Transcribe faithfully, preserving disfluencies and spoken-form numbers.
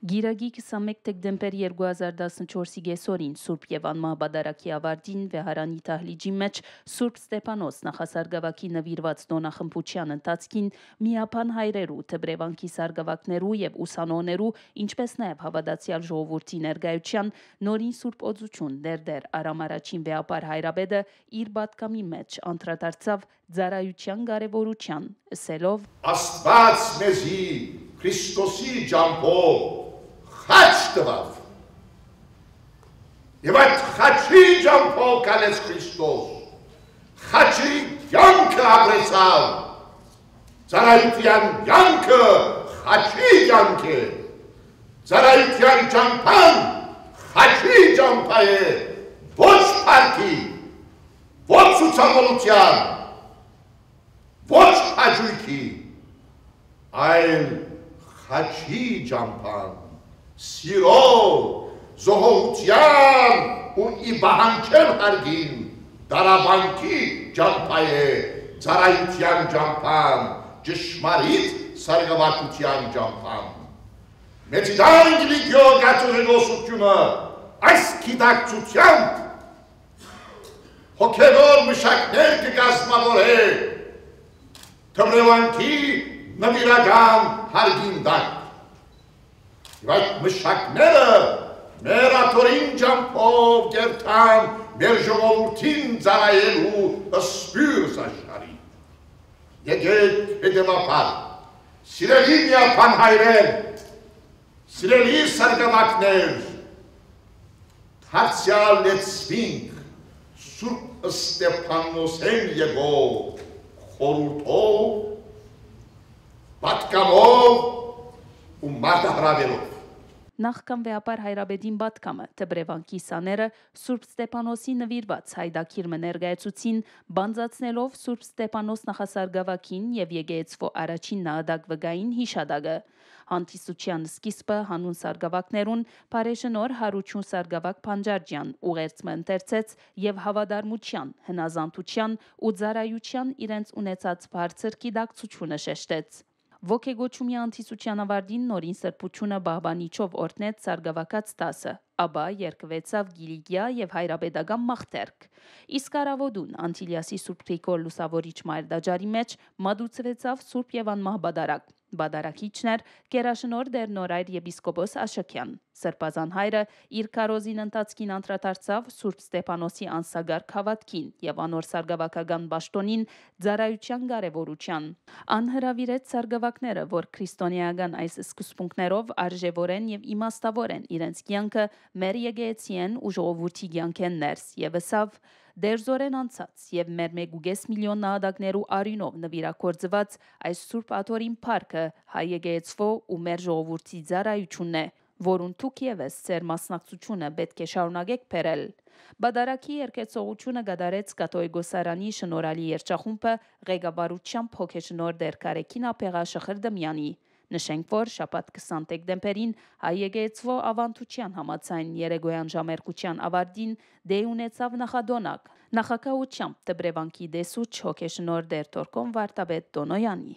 Գիրագի քսանմէկ դեկտեմբեր երկու հազար տասնչորսի կեսօրին Սուրբ եւ Անմահ Պատարագի աւարտին Վեհարանի դահլիճի մէջ Սուրբ Ստեփանոս նախասարգաւակի նուիրուած տօնախմբութեան ընթացքին միաբան հայրերու, դպրեվանքի սարգաւակներու եւ ուսանողներու, ինչպէս նաեւ հաւատացեալ ժողովուրդի ներկայութեան նորին Սուրբ Օծութիւն Տէր Տէր Արամ Առաջին Վեհափառ Հայրապետը իր պատգամի մէջ անդրադարձաւ ծառայութեան կարեւորութեան, ըսելով. «Աստուած մեզի Քրիստոսի ճամբով խաչ տուաւ։ Եւ այդ խաչի ճամբով քալեց Քրիստոս, խաչի կեանքը ապրեցաւ, ծառայութեան կեանքը խաչի կեանք է, ծառայութեան ճամբան խաչի ճամբայ է, ոչ փառքի, ոչ ցուցամոլութեան, ոչ հաճոյքի, այլ խաչի ճամբան, սիրո, զոհողութեան ու ի պահանջեմ հարգին տառապանքի ճամբայ է, ծառայութեան ճամբան, ճշմարիտ սարգաւակութեան ճամբան։ Մեծիդան Կիլիկիոյ կաթողիկոսությունը այս գիտակցութեամբ հոգեւոր մշակներ կը կազմաւորէ դպրեվանքի նուիրական հարգին տակ։ Եւ այդ մշակները մեր աթոռին ճամբով կերթան մեր ժողովուրդին ծառայելու սփիւռ զաշխարհի։ Եկեք հետեւաբար, սիրելի միաբան հայրեր, սիրելի սարգաւակներ, դարձեալ լեցուինք Սուրբ Ստեփանոսէն եկող խորհուրդով, պատգամով ու մարտահրաւերով։ Նախքան Վեհափառ Հայրապետին պատգամը, դպրեվանքի սաները Սուրբ Ստեփանոսի նուիրուած յայտագիր մը ներկայացուցին, բանձացնելով Սուրբ Ստեփանոս նախասարգաւակին եւ եկեղեցւոյ առաջին նահատակ վկային յիշատակը։ Հանդիսութեան սկիզբը յանուն սարգաւակներուն Բարեշնորհ Յարութիւն սարգաւակ Բանջարջեան ուղերձ մը ընթերցեց եւ հաւատարմութեան, հնազանդութեան ու ծառայութեան իրենց ունեցած բարձր գիտակցութիւնը շեշտեց։ Ոգեկոչումի հանդիսութեան աւարտին նորին սրբութիւնը պահպանիչով օրհնեց սարգաւակաց դասը, ապա երգուեցաւ Կիլիկիա եւ հայրապետական մաղթերք։ Իսկ առաւօտուն Անտիլիասի Սուրբ Գրիգոր Լուսաւորիչ մայր տաճարի մէջ մատուցուեցաւ Սուրբ եւ Անմահ Պատարագ։ Պատարագիչն էր Գերաշնորհ Տէր Նորայր եպիսկոպոս Աշոքեան։ Սրբազան հայրը իր քարոզին ընթացքին անդրադարձաւ Սուրբ Ստեփանոսի անսակարկ հաւատքին եւ անոր սարգաւակական պաշտօնին ծառայութեան կարեւորութեան։ Ան հրաւիրեց սարգաւակները, որ քրիստոնէական այս սկզբունքներով արժեւորեն եւ իմաստաւորեն իրենց կեանքը մեր եկեղեցիէն ու ժողովուրդի կեանքէն ներս, եւ ըսաւ. «Դերձորեն անցած եւ մեր մէկ ու կէս միլիոն նահատակներու արիւնով նուիրագործուած այս Սուրբ Աթոռին փառքը հայ եկեղեցւոյ ու մեր ժողովուրդի ծառայութիւնն է, որուն դուք եւս ձեր մասնակցութիւնը պէտք է շարունակէք բերել»։ Պատարագի երգեցողութիւնը կատարեց Կաթողիկոսարանի շնորհալի երգչախումբը ղեկավարութեամբ հոգեշնորհ Տէր Կարեգին Աբեղա Շղրդմեանի։ Նշենք, որ շաբաթ քսան դեկտեմբերին հայ եկեղեցւոյ աւանդութեան համաձայն երեկոյեան ժամերգութեան աւարտին տեղի ունեցաւ նախատօնակ, նախագահութեամբ դպրեվանքի տեսուչ հոգեշնորհ Տէր Թորքոն Վարդապետ Տոնոյանի։